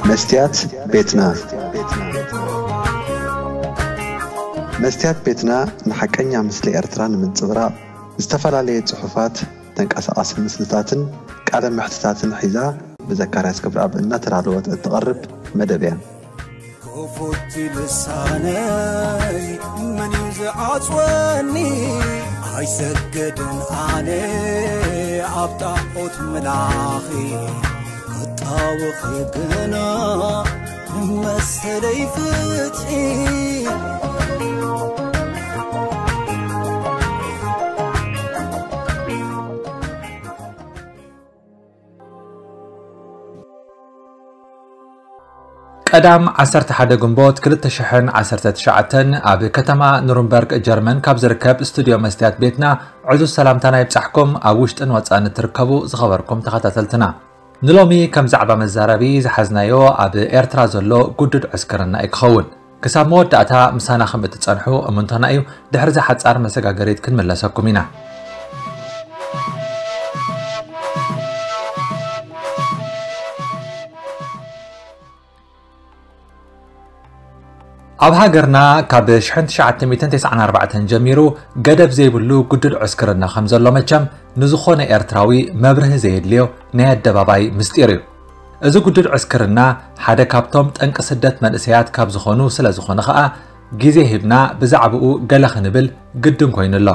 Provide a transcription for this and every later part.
መስትያት ቤትና። መስትያት ቤትና ንሓቀኛ ምስሊ ኤርትራ ንምንጽብራቕ ዝተፈላለየ ጽሑፋት፣ ተንቀሳቓሲ ምስልታትን ቃለ መሕትታትን ሒዛ ብዘካርያስ ክብረኣብ እናተዳለወት እትቐርብ መደብ እያ። ክፉት ልሳነይ መን እዩ ዝዓጽወኒ? ኣይሰግድን ኣነ ኣብ ጣዖት ምላኺ፣ ክጣወኺ ግና መሰለይ ፍትሒ። ቀዳም ዓሰርተ ሓደ ግንቦት ክልተ ሽሕን ዓሰርተ ትሽዓተን ኣብ ከተማ ኑርንበርግ ጀርመን ካብ ዝርከብ ስቱድዮ መስትያት ቤትና ዕዙዝ ሰላምታና ይብጻሕኩም። ኣብ ውሽጥን ወጻእን እትርከቡ ዝኸበርኩም ተኸታተልትና፣ ንሎሚ ከም ዛዕባ መዛረቢ ዝሓዝናዮ ኣብ ኤርትራ ዘሎ ግዱድ ዕስክርና እዩ ክኸውን። ክሳብ መወዳእታ ምሳና ከም እትጸንሑ እምንቶና እዩ። ድሕሪ እዛ ሓጻር መሰጋገሪት ክንምለሰኩም ኢና። ኣብ ሃገርና ካብ ሽሕን ትሽዓተ ሚእትን ተስዓን ኣርባዕተን ጀሚሩ ገደብ ዘይብሉ ግዱድ ዕስክርና ከም ዘሎ መቸም ንዝኾነ ኤርትራዊ መብርሂ ዘየድልዮ ናይ ኣደባባይ ምስጢር እዩ። እዚ ግዱድ ዕስክርና ሓደ ካብቶም ጠንቂ ስደት መንእሰያት ካብ ዝኾኑ ስለ ዝኾነ ኸኣ፣ ግዜ ሂብና ብዛዕባኡ ገለ ክንብል ግድን ኮይኑ ኣሎ።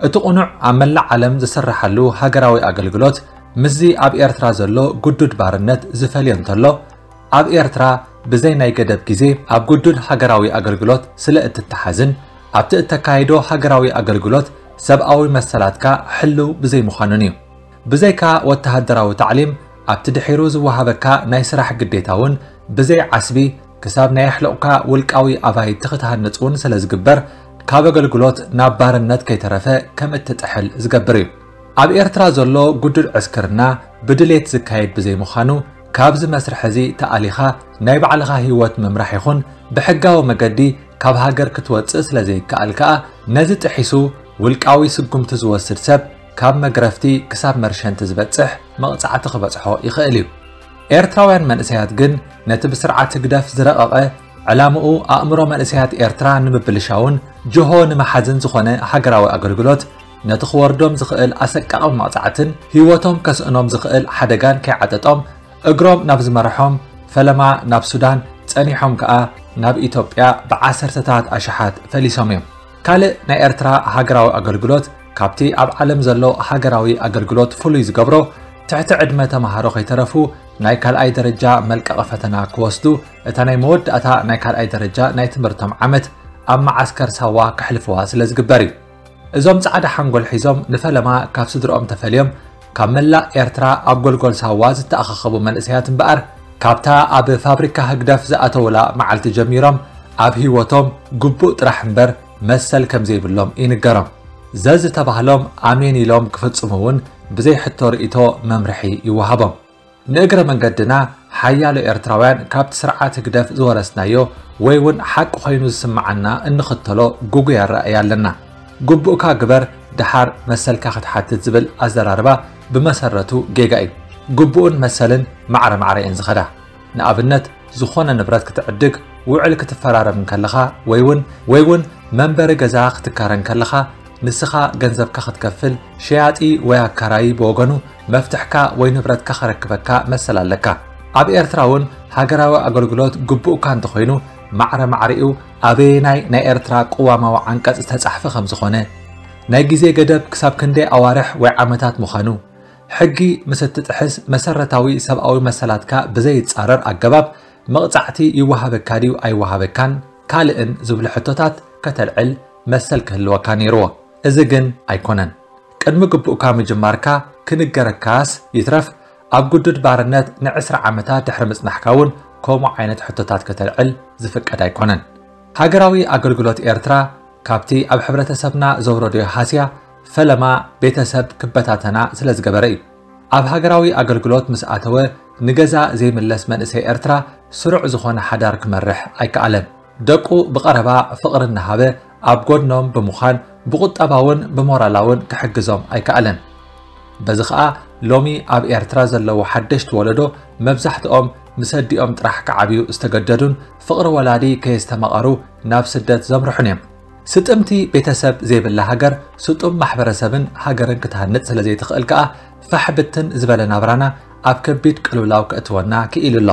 እቲ ቁኑዕ ኣብ መላእ ዓለም ዝስረሓሉ ሃገራዊ ኣገልግሎት ምስዚ ኣብ ኤርትራ ዘሎ ግዱድ ባርነት ዝፈልዮ እንተሎ፣ ኣብ ኤርትራ ብዘይ ናይ ገደብ ግዜ ኣብ ግዱድ ሃገራዊ ኣገልግሎት ስለ እትተሓዝን ኣብቲ እተካይዶ ሃገራዊ ኣገልግሎት ሰብኣዊ መሰላትካ ሕልው ብዘይ ምዃኑን እዩ። ብዘይካ ወተሃደራዊ ታዕሊም ኣብቲ ድሒሩ ዝወሃበካ ናይ ስራሕ ግዴታ እውን ብዘይ ዓስቢ ክሳብ ናይ ኣሕሉቕካ ውልቃዊ ኣባይቲ ክትሃንጽ እውን ስለ ዝግበር ካብ ኣገልግሎት ናብ ባርነት ከይተረፈ ከም እትጥሕል ዝገብር እዩ። ኣብ ኤርትራ ዘሎ ግዱድ ዕስክርና ብድሌት ዝካየድ ብዘይ ምዃኑ ካብዚ መስርሕ እዚ ተኣሊኻ ናይ ባዕልኻ ህይወት ምምራሕ ይኹን ብሕጋዊ መገዲ ካብ ሃገር ክትወጽእ ስለ ዘይከኣል ከኣ ነዚ ጥሒሱ ውልቃዊ ስጉምቲ ዝወስድ ሰብ ካብ መግረፍቲ ክሳብ መርሸንቲ ዝበጽሕ መቕጻዕቲ ክበጽሖ ይኽእል እዩ። ኤርትራውያን መንእሰያት ግን ነቲ ብስርዓት ህግደፍ ዝረቐቐ ዕላምኡ ኣእምሮ መንእሰያት ኤርትራ ንምብልሻውን ጅሆ ንምሓዝን ዝኾነ ሃገራዊ ኣገልግሎት ነቲ ክወርዶም ዝኽእል ኣሰቃቒ መቕጻዕትን ህይወቶም ከስእኖም ዝኽእል ሓደጋን ከይዓጠጦም እግሮም ናብ ዝመርሖም ፈለማ ናብ ሱዳን ጸኒሖም ከኣ ናብ ኢትዮጵያ ብዓሰርተታት ኣሽሓት ፈሊሶም እዮም። ካልእ ናይ ኤርትራ ሃገራዊ ኣገልግሎት ካብቲ ኣብ ዓለም ዘሎ ሃገራዊ ኣገልግሎት ፍሉይ ዝገብሮ ትሕቲ ዕድመ ተማሃሮ ከይተረፉ ናይ ካልኣይ ደረጃ መልቀቒ ፈተና ክወስዱ እታ ናይ መወዳእታ ናይ ካልኣይ ደረጃ ናይ ትምህርቶም ዓመት ኣብ መዓስከር ሳዋ ከሕልፍዋ ስለ ዝግበር እዩ። እዞም ጻዕዳ ሓንጎል ሒዞም ንፈለማ ካብ ስድርኦም ተፈልዮም ካብ መላእ ኤርትራ ኣብ ጎልጎል ሳዋ ዝተኣኻኸቡ መንእሰያት እምበኣር፣ ካብታ ኣብ ፋብሪካ ህግደፍ ዝኣተውላ መዓልቲ ጀሚሮም ኣብ ህይወቶም ግቡእ ጥራሕ እምበር መሰል ከም ዘይብሎም ይንገሮም። ዘዝተባህሎም ኣሜን ኢሎም ክፍጽሙ እውን ብዘይ ሕቶ ርእይቶ መምርሒ ይወሃቦም። ንእግረ መንገድና ሓያሎ ኤርትራውያን ካብቲ ስርዓት ህግደፍ ዝወረስናዮ ወይ እውን ሓቂ ኮይኑ ዝስምዓና እንኽተሎ ግጉይ ኣረኣእያ ኣለና። ግቡእካ ግበር ደሓር መሰልካ ክትሓትት ዝብል ኣዘራርባ ብመሰረቱ ጌጋ እዩ። ግቡእን መሰልን ማዕረ ማዕረ እየን ዝኸዳ። ንኣብነት ዝኾነ ንብረት ክትዕድግ ውዕል ክትፈራረም እንከለኻ ወይ እውን ወይ እውን መንበሪ ገዛ ክትካረ እንከለኻ ንስኻ ገንዘብካ ክትከፍል ሸያጢ ወይ ኣካራዪ ብወገኑ መፍትሕካ ወይ ንብረትካ ከረክበካ መሰል ኣለካ። ኣብ ኤርትራ እውን ሃገራዊ ኣገልግሎት ግቡእካ እንተኾይኑ ማዕረ ማዕሪኡ ኣበየናይ ናይ ኤርትራ ቅዋማዊ ዓንቀጽ ዝተጻሕፈ ከም ዝኾነ፣ ናይ ግዜ ገደብ ክሳብ ክንደይ ኣዋርሕ ወይ ዓመታት ምዃኑ፣ ሕጊ ምስ እትጥሕስ መሰረታዊ ሰብኣዊ መሰላትካ ብዘይጻረር ኣገባብ መቕጻዕቲ ይወሃበካ ድዩ ኣይወሃበካን ካልእን ዝብሉ ሕቶታት ከተልዕል መሰል ክህልወካ ነይርዎ። እዚ ግን ኣይኮነን። ቅድሚ ግቡእካ ምጅማርካ ክንገረካስ ይትረፍ ኣብ ግዱድ ባርነት ንዕስራ ዓመታት ድሕሪ ምጽናሕካ እውን ከምኡ ዓይነት ሕቶታት ከተልዕል ዝፍቀድ ኣይኮነን። ሃገራዊ ኣገልግሎት ኤርትራ ካብቲ ኣብ ሕብረተሰብና ዘውረዶዮ ሃስያ ፈለማ ቤተሰብ ክበታተና ስለ ዝገበረ እዩ። ኣብ ሃገራዊ ኣገልግሎት ምስ ኣተወ ንገዛ ዘይምለስ መንእሰይ ኤርትራ ስሩዕ ዝኾነ ሓዳር ክመርሕ ኣይከኣለን። ደቁ ብቐረባ ፍቕሪ እናሃበ ኣብ ጎድኖም ብምዃን ብቁጠባውን ብሞራላውን ክሕግዞም ኣይከኣለን። በዚ ኸኣ ሎሚ ኣብ ኤርትራ ዘለዉ ሓደሽቲ ወለዶ መብዛሕትኦም ምስ ኣዲኦም ጥራሕ ክዓብዩ ዝተገደዱን ፍቕሪ ወላዲ ከየስተማቐሩ ናብ ስደት ዘምርሑን እዮም። ስጥምቲ ቤተሰብ ዘይብላ ሃገር ስጡም ማሕበረሰብን ሃገርን ክትሃንጽ ስለ ዘይትኽእል ከኣ ፋሕ ብትን ዝበለ ናብራና ኣብ ከቢድ ቅልውላው ከእትወና ክኢሉ ኣሎ።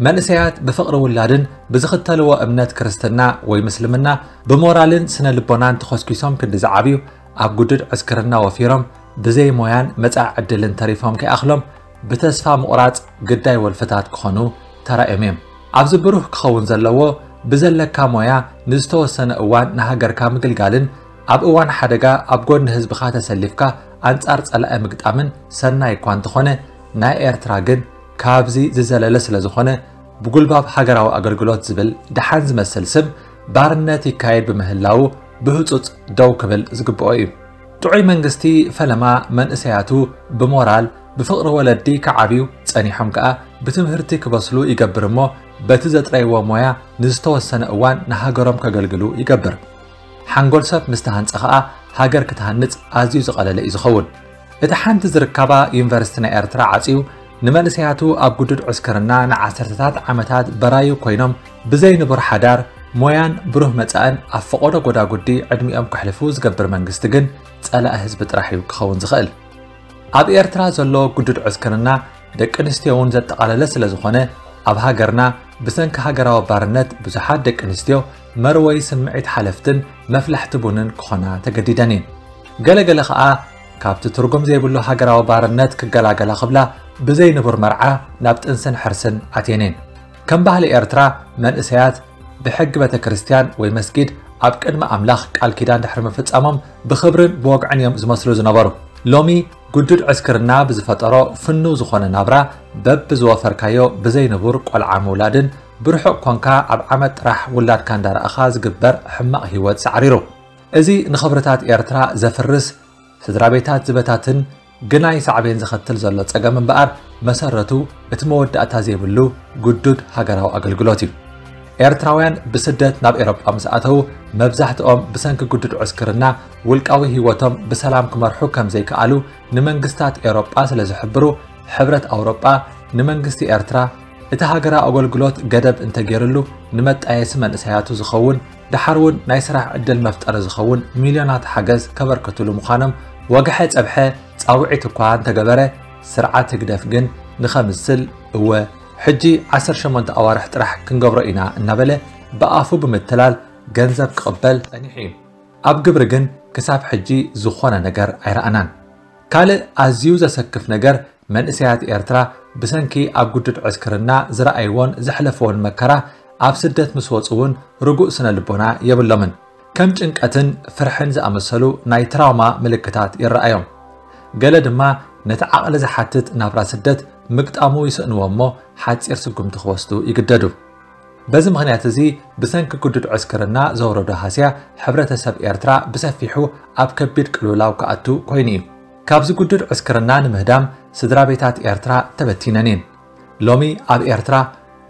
መንእሰያት ብፍቕሪ ውላድን ብዝኽተልዎ እምነት ክርስትና ወይ ምስልምና ብሞራልን ስነ ልቦናን ተኾስኪሶም ክንዲ ዝዓብዩ ኣብ ግዱድ ዕስክርና ወፊሮም ብዘይ ሞያን መጻኢ ዕድልን ተሪፎም ከይኣኽሎም ብተስፋ ምቑራጽ ግዳይ ወልፍታት ክኾኑ ተራእዮም እዮም። ኣብዚ ብሩህ ክኸውን ዘለዎ ብዘለካ ሞያ ንዝተወሰነ እዋን ንሃገርካ ምግልጋልን ኣብ እዋን ሓደጋ ኣብ ጎድኒ ህዝብኻ ተሰሊፍካ ኣንጻር ጸላኢ ምግጣምን ሰናይ እኳ እንተኾነ ናይ ኤርትራ ግን ካብዚ ዝዘለለ ስለ ዝኾነ ብጉልባብ ሃገራዊ ኣገልግሎት ዝብል ደሓን ዝመስል ስም ባርነት ይካየድ ብምህላዉ ብህጹጽ ደው ክብል ዝግብኦ እዩ። ጥዑይ መንግስቲ ፈለማ መንእሰያቱ ብሞራል ብፍቕሪ ወለዲ ክዓብዩ ጸኒሖም ከኣ ብትምህርቲ ክበስሉ ይገብር እሞ በቲ ዘጥረይዎ ሞያ ንዝተወሰነ እዋን ንሃገሮም ከገልግሉ ይገብር። ሓንጎል ሰብ ምስ ተሃንጸ ኸኣ ሃገር ክትሃንጽ ኣዝዩ ዝቐለለ እዩ ዝኸውን። እቲ ሓንቲ ዝርከባ ዩኒቨርሲቲ ናይ ኤርትራ ዓጽዩ ንመንእሰያቱ ኣብ ግዱድ ዕስክርና ንዓሰርተታት ዓመታት በራዩ ኮይኖም ብዘይ ንቡር ሓዳር፣ ሞያን ብሩህ መጻእን ኣብ ፈቐዶ ጎዳጉዲ ዕድሚኦም ከሕልፉ ዝገብር መንግስቲ ግን ጸላኢ ህዝቢ ጥራሕ እዩ ክኸውን ዝኽእል። ኣብ ኤርትራ ዘሎ ግዱድ ዕስክርና ደቂ ኣንስትዮ እውን ዘጠቓለለ ስለ ዝኾነ ኣብ ሃገርና ብሰንኪ ሃገራዊ ባርነት ብዙሓት ደቂ ኣንስትዮ መርወይ ስምዒት ሓለፍትን መፍላሕቲ ቡንን ክኾና ተገዲደን እየን። ገለገለ ኸኣ ካብቲ ትርጉም ዘይብሉ ሃገራዊ ባርነት ክገላገላ ክብላ ብዘይ ንቡር መርዓ ናብ ጥንስን ሕርስን ኣትየን እየን። ከም ባህሊ ኤርትራ መንእሰያት ብሕጊ ቤተ ክርስቲያን ወይ መስጊድ ኣብ ቅድሚ ኣምላኽ ቃል ኪዳን ድሕሪ ምፍጻሞም ብኽብርን ብወግዕን እዮም ዝመስሉ ዝነበሩ። ሎሚ ግዱድ ዕስክርና ብዝፈጠሮ ፍኑው ዝኾነ ናብራ በብዝወፈርካዮ ብዘይ ንቡር ቆልዓ ምውላድን ብርሑቕ ኮንካ ኣብ ዓመት ጥራሕ ውላድካ እንዳረኣኻ ዝግበር ሕማቕ ህይወት ሳዕሪሩ። እዚ ንኽብርታት ኤርትራ ዘፍርስ ስድራ ቤታት ዝበታትን ግናይ ሳዕቤን ዘኸትል ዘሎ ጸገም እምበኣር መሰረቱ እቲ መወዳእታ ዘይብሉ ግዱድ ሃገራዊ ኣገልግሎት እዩ። ኤርትራውያን ብስደት ናብ ኤሮጳ ምስ ኣተዉ መብዛሕትኦም ብሰንኪ ግዱድ ዕስክርና ውልቃዊ ህይወቶም ብሰላም ክመርሑ ከም ዘይከኣሉ ንመንግስታት ኤሮጳ ስለ ዝሕብሩ ሕብረት ኣውሮጳ ንመንግስቲ ኤርትራ እቲ ሃገራዊ ኣገልግሎት ገደብ እንተገይርሉ ንመጣየሲ መንእሰያቱ ዝኸውን ደሓር እውን ናይ ስራሕ ዕድል መፍጠሪ ዝኸውን ሚልዮናት ሓገዝ ከበርክትሉ ምዃኖም ወግሐ ጸብሐ ጻውዒት እኳ እንተገበረ ስርዓት ህግደፍ ግን ንኸምስል እወ ሕጂ ዓሰርተ ሸሞንተ ኣዋርሕ ጥራሕ ክንገብሮ ኢና እናበለ ብኣፉ ብምትላል ገንዘብ ክቕበል ጸኒሑ እዩ። ኣብ ግብሪ ግን ክሳብ ሕጂ ዝኾነ ነገር ኣይረኣናን። ካልእ ኣዝዩ ዘሰክፍ ነገር መንእሰያት ኤርትራ ብሰንኪ ኣብ ግዱድ ዕስክርና ዝረኣይዎን ዘሕለፍዎን መከራ ኣብ ስደት ምስ ወጹ እውን ርጉእ ስነ ልቦና የብሎምን። ከም ጭንቀትን ፍርሕን ዝኣመሰሉ ናይ ትራውማ ምልክታት ይረኣዮም። ገለ ድማ ነቲ ዓቕሊ ዝሓትት ናብራ ስደት ምግጣሙ ይስእንዎ እሞ ሓጺር ስጉምቲ ክወስዱ ይግደዱ። በዚ ምኽንያት እዚ ብሰንኪ ግዱድ ዕስክርና ዘውረዶ ሃስያ ሕብረተሰብ ኤርትራ ብሰፊሑ ኣብ ከቢድ ቅልውላው ክኣቱ ኮይኑ እዩ። ካብዚ ግዱድ ዕስክርና ንምህዳም ስድራ ቤታት ኤርትራ ተበቲነን እየን። ሎሚ ኣብ ኤርትራ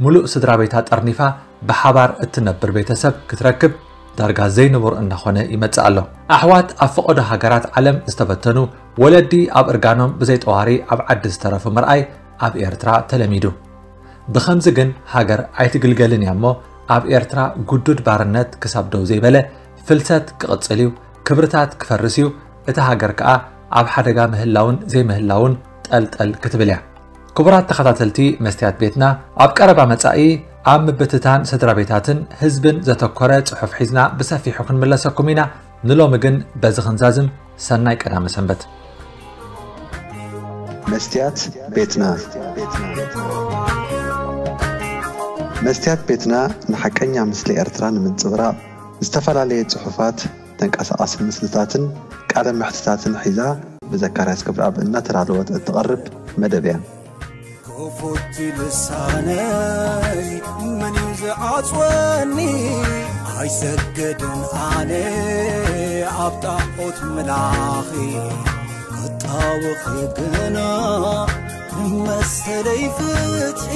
ሙሉእ ስድራ ቤታ ጠርኒፋ ብሓባር እትነብር ቤተሰብ ክትረክብ ዳርጋ ዘይንቡር እናኾነ ይመጽእ ኣሎ። ኣሕዋት ኣብ ፈቐዶ ሃገራት ዓለም ዝተበተኑ፣ ወለዲ ኣብ እርጋኖም ብዘይ ጠዋሪ ኣብ ዓዲ ዝተረፉ ምርኣይ ኣብ ኤርትራ ተለሚዱ። ብኸምዚ ግን ሃገር ኣይትግልገልን እያ እሞ ኣብ ኤርትራ ግዱድ ባርነት ክሳብ ደው ዘይበለ ፍልሰት ክቕጽል እዩ፣ ክብርታት ክፈርስ እዩ፣ እታ ሃገር ከኣ ኣብ ሓደጋ ምህላውን ዘይምህላውን ጠልጠል ክትብል እያ። ክቡራት ተኸታተልቲ መስትያት ቤትና፣ ኣብ ቀረባ መጻኢ ኣብ ምብትታን ስድራ ቤታትን ህዝብን ዘተኮረ ጽሑፍ ሒዝና ብሰፊሑ ክንምለሰኩም ኢና። ንሎሚ ግን በዚ ክንዛዝም፣ ሰናይ ቀዳመ ሰንበት። መስትያት ቤትና። መስትያት ቤትና ንሓቀኛ ምስሊ ኤርትራ ንምንጽብራቕ ዝተፈላለየ ጽሑፋት፣ ተንቀሳቓሲ ምስልታትን ቃለ መሕትታትን ሒዛ ብዘካርያስ ገብረኣብ እናተዳለወት እትቐርብ መደብ እያ። ክፉት ልሳነይ መን እዩ ዝዓጽወኒ? ኣይሰግድን ኣነ ኣብ ጣዖት ምላኺ፣ ክጣወኺ ግና መሰለይ ፍትሒ።